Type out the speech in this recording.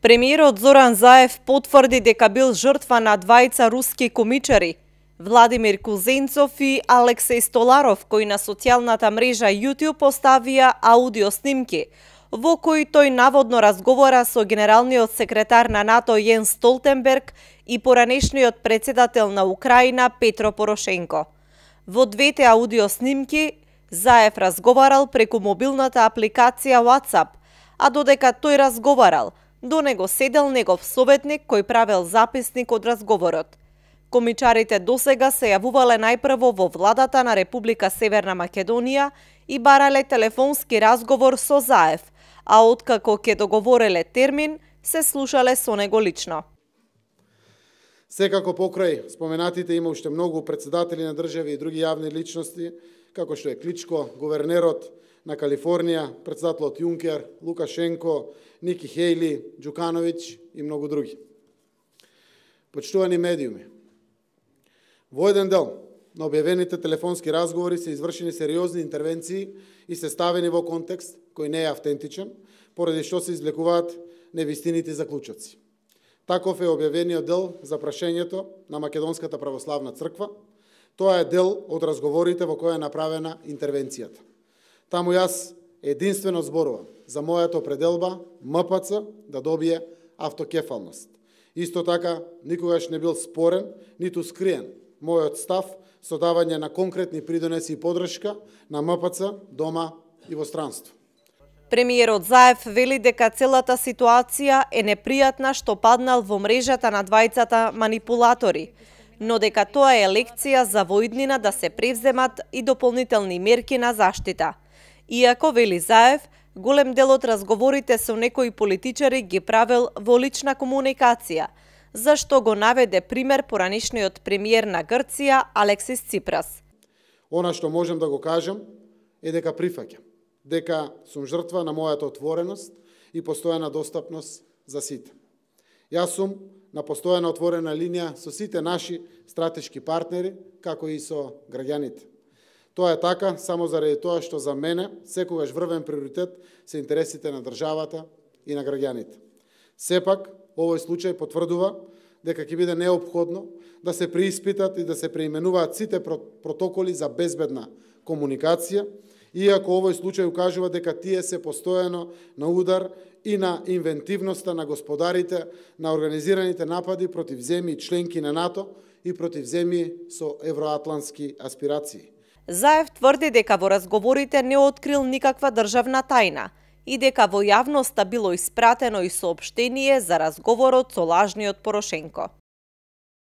Премиерот Зоран Заев потврди дека бил жртва на двајца руски комичари, Владимир Кузенцов и Алексеј Столаров, кои на социјалната мрежа YouTube поставија аудио снимки, во кои тој наводно разговара со генералниот секретар на НАТО Јенс Столтенберг и поранешниот председател на Украина Петро Порошенко. Во двете аудио снимки Заев разговарал преку мобилната апликација WhatsApp, а додека тој разговарал, до него седел негов советник кој правел записник од разговорот. Комичарите досега се јавувале најпрво во владата на Република Северна Македонија и барале телефонски разговор со Заев, а откако ќе договореле термин, се слушале со него лично. Секако покрај споменатите има уште многу председатели на држави и други јавни личности, како што е Кличко, гувернерот на Калифорнија, председателот Јункер, Лукашенко, Ники Хејли, Џукановиќ и многу други. Почитувани медиуми, во еден дел на објавените телефонски разговори се извршени сериозни интервенции и се ставени во контекст кој не е автентичен, поради што се извлекуваат невистините заклучоци. Таков е објавениот дел за прашањето на Македонската православна црква. Тоа е дел од разговорите во која е направена интервенцијата. Таму јас единствено зборувам за мојата определба МПЦ да добие автокефалност. Исто така, никогаш не бил спорен, ниту скриен мојот став со давање на конкретни придонеси и подршка на МПЦ дома и во странство. Премиерот Заев вели дека целата ситуација е непријатна што паднал во мрежата на двајцата манипулатори, но дека тоа е лекција за воиднина да се превземат и дополнителни мерки на заштита. Иако, вели Заев, голем дел од разговорите со некои политичари ги правел во лична комуникација, зашто го наведе пример поранешниот премиер на Грција Алексис Ципрас. Она што можем да го кажем е дека прифаќам дека сум жртва на мојата отвореност и постојана достапност за сите. Јас сум на постојана отворена линија со сите наши стратешки партнери, како и со граѓаните. Тоа е така само заради тоа што за мене секогаш врвен приоритет се интересите на државата и на граѓаните. Сепак, овој случај потврдува дека ќе биде неопходно да се преиспитат и да се преименуваат сите протоколи за безбедна комуникација, иако овој случај укажува дека тие се постојано на удар и на инвентивноста на господарите на организираните напади против земји членки на НАТО и против земји со евроатлантски аспирации. Заев тврди дека во разговорите не открил никаква државна тајна и дека во јавноста било испратено и соопштение за разговорот со лажниот Порошенко.